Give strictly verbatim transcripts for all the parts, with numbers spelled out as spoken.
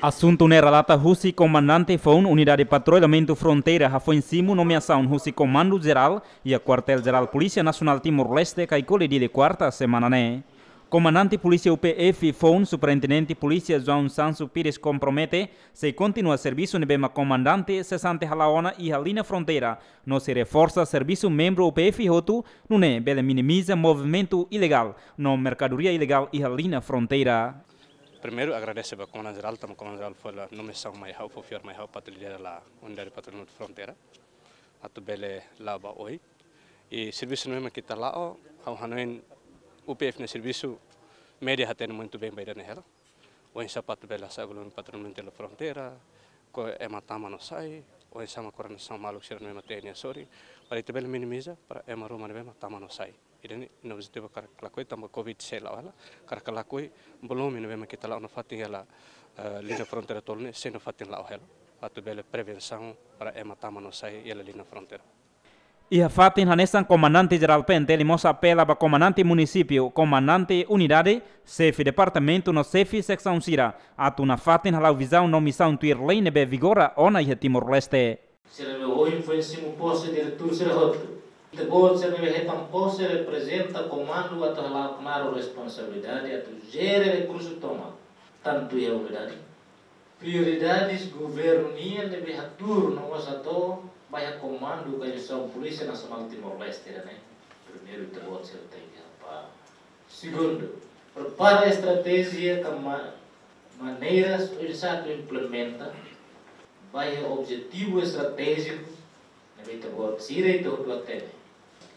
Asuntu ne'e relata husi Komandante Foun Unidade Patrullamentu Fronteira hafoin simu nomeasaun husi Komandu Jerál iha Kuartél Jerál Polísia Nasionál Timor-Leste, Caicoli, Dili, kuarta semana ne'e. Komandante Polísia U P F Foun, Superintendente Polísia João Sancho Pires, kompromete sei kontinua servisu ne'ebé mak komandante sesante hala'o ona iha liña fronteira, no sei reforsa servisu membru U P F hotu, nune'e bele minimiza movimentu ilegál no merkadoria ilegál iha liña fronteira. Primeiru, agradese ba Komandante Jerál, tanba Komandante Jerál fó hela nomeasaun mai ha'u, fó fiar mai ha'u atu lidera hela Unidade Patrullamentu Fronteira, atu bele la'o ba oin. I servisu ne'ebé mak ita la'o, ha'u hanoin U P F nia servisu, média hatene muito bem ba ida-ne'e hela. Oinsá para atu bele hasa'e volume patrullamentu iha fronteira, kona-ba ema tama no sai, oinsá mak koordenasaun maluk sira ne'ebé mak T N A sorin, para ita bele minimiza para ema ruma ne'ebé mak tama no sai. Ida-ne'e nia objetivu karik lakohi tanba covid sei la'o hela, karik lakohi volume ne'ebé mak ita la'o nafatin hela, eh, liña fronteira tolu ne'e sei nafatin la'o hela, atu bele prevensaun para ema tama no sai iha liña fronteira. Iha fatin hanesan, Komandante Jerál P N T L mós apela ba komandante munisípiu, komandante unidade, xefe departamentu no xefe seksaun sira atu nafatin hala'o vizaun no misaun tuir lei ne'ebé vigora ona iha Timor-Leste. Sira ne'ebé ohin foin simu pose diretór sira hotu. Ita-boot sira ne'ebé hetan pose reprezenta komandu atu hala'o knaar responsabilidade atu jere rekursu tomak, tantu iha unidade, prioridades governu nian ne'ebé hatuur no mós hato'o ba iha Komandu Organizasaun Polísia Nasionál Timor-Leste ida-ne'e. Primeiru, ita-boot sira tenke hapara. Segundu, prepara estratéjia ka ma-, maneiras oinsá atu implementa ba iha objetivu estratéjiku ne'ebé ita-boot sira ita hotu hatene.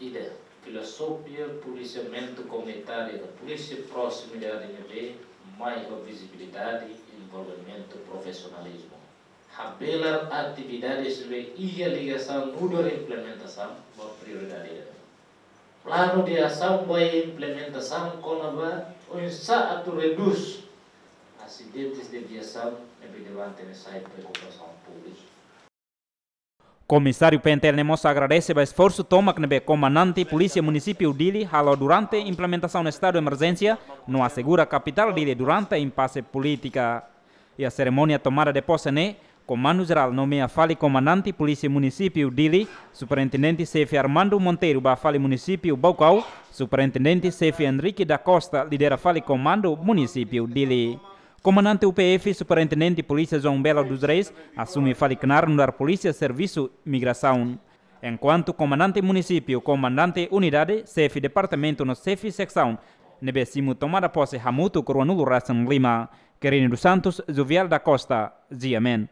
Ida, filozofia polisiamentu komunitáriu ka polísia proximidade ne'ebé mai ho vizibilidade, envolvimentu, profisionalizmu. Habelar atividades ne'ebé iha ligasaun nu'udar implementasaun ba prioridade ida. Planu de asaun ba implementasaun kona-ba oinsá atu redús asidentes de viasaun ne'ebé durante ne'e sai preokupasaun públiku. Komisáriu P N T L ne'e mós agradese ba esforsu tomak ne'ebé Komandante Polísia Munisípiu Dili halo durante implementasaun estadu emerjénsia no asegura kapitál Dili durante impase polítika. Iha serimónia tomada de pose ne'e, Komandu Jerál nomeia fali Komandante Polísia Munisípiu Dili, Superintendente Xefe Armando Monteiro ba fali Munisípiu Baucau, Superintendente Xefe Henrique da Costa lidera fali Komandu Munisípiu Dili. Komandante U P F, Superintendente Polísia João Belo dos Reis, asume fali knaar nu'udar Polísia Servisu Migrasaun. Enkuantu Komandante Munisípiu, Komandante Unidade, Xefe Departamentu no Xefe Seksaun ne'ebé simu tomada pose hamutuk ruanulu resin lima. Quirino dos Santos, Jovial da Costa, G M N.